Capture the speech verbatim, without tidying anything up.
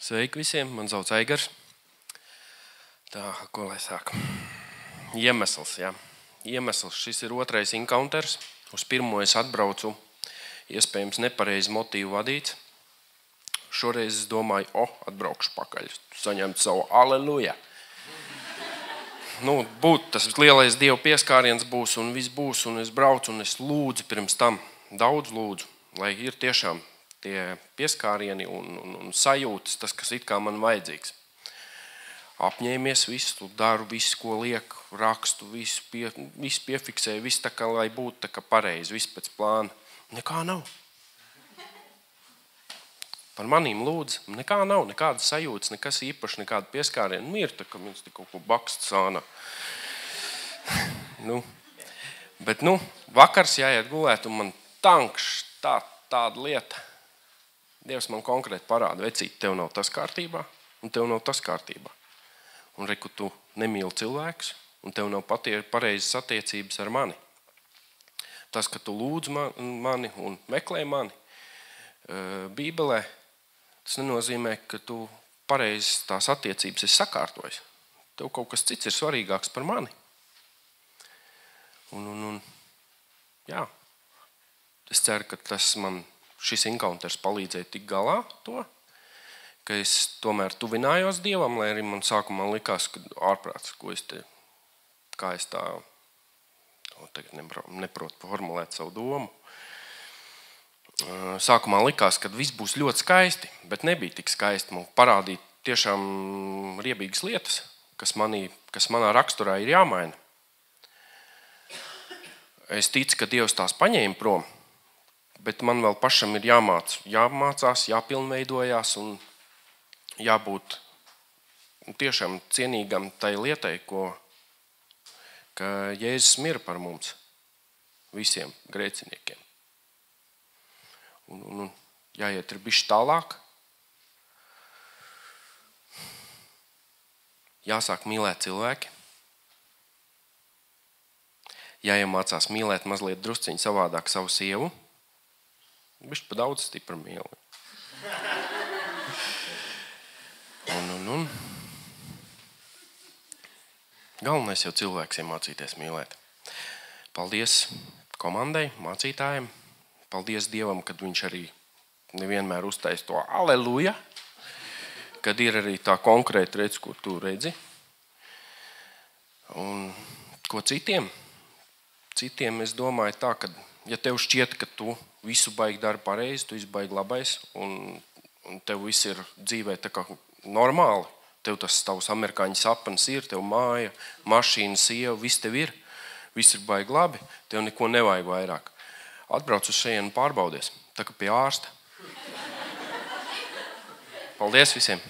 Sveiki visiem, man sauc Eigars. Tā, ko lai sāku? Iemesls, jā. Iemesls, šis ir otrais encounters. Uz pirmo es atbraucu, iespējams nepareizi motīvu vadīts. Šoreiz es domāju, o, atbraukšu pakaļ, saņemt savu aleluja. Nu, būt tas lielais Dieva pieskāriens būs un viss būs, un es braucu un es lūdzu pirms tam, daudz lūdzu, lai ir tiešām tie pieskārieni un, un, un sajūtas, tas, kas it kā man vajadzīgs. Apņēmies visu, daru visu, ko liek, rakstu, visu, pie, visu piefiksēju, visu tā kā, lai būtu tā kā pareizi, visu pēc plāna. Nekā nav. Par manīm lūdzu, nekā nav, nekādas sajūtas, nekas īpaši, nekāda pieskāriena. Nu, ir tā, ka mums kaut ko bakst sāna. nu, bet, nu, vakars jāiet gulēt, un man tankš tā, tāda lieta. Dievs man konkrēti parāda, vecīt, tev nav tas kārtībā, un tev nav tas kārtībā. Un reku, tu nemīli cilvēkus, un tev nav pareizas attiecības ar mani. Tas, ka tu lūdz mani un meklē mani Bībelē, tas nenozīmē, ka tu pareizas tās attiecības esi sakārtojis. Tev kaut kas cits ir svarīgāks par mani. Un, un, un jā, es ceru, ka tas man šis encounters palīdzēja tik galā to, ka es tomēr tuvinājos Dievam, lai arī man sākumā likās, ka ārprāts, ko es te, kā es tā, tagad neprotu formulēt savu domu. Sākumā likās, ka viss būs ļoti skaisti, bet nebija tik skaisti. Man parādīja tiešām riebīgas lietas, kas, manī, kas manā raksturā ir jāmaina. Es ticu, ka Dievs tās paņēma prom, bet man vēl pašam ir jāmāc, jāmācās, jāpilnveidojās un jābūt tiešām cienīgam tai lietai, ko, ka Jēzus mira par mums, visiem grēciniekiem. Un, un, un jāiet ir bišķi tālāk. Jāsāk mīlēt cilvēki. Jāiemācās mīlēt mazliet drusciņu savādāk savu sievu. Bišķi pa daudz stipra mīli. Un, un, un. Galvenais jau cilvēks iemācīties mīlēt. Paldies komandai, mācītājiem. Paldies Dievam, kad viņš arī nevienmēr uztais to aleluja, kad ir arī tā konkrēta redz, ko tu redzi. Un ko citiem? Citiem es domāju tā, ka ja tev šķiet, ka tu visu baigi dari pareizi, tu visu baigi labais, un, un tev viss ir dzīvē tā kā normāli, tev tas tavs amerikāņu sapnis ir, tev māja, mašīna, sieva, viss tev ir, viss ir baigi labi, tev neko nevajag vairāk. Atbrauc uz šejienu un pārbaudies, tā kā pie ārsta. Paldies visiem!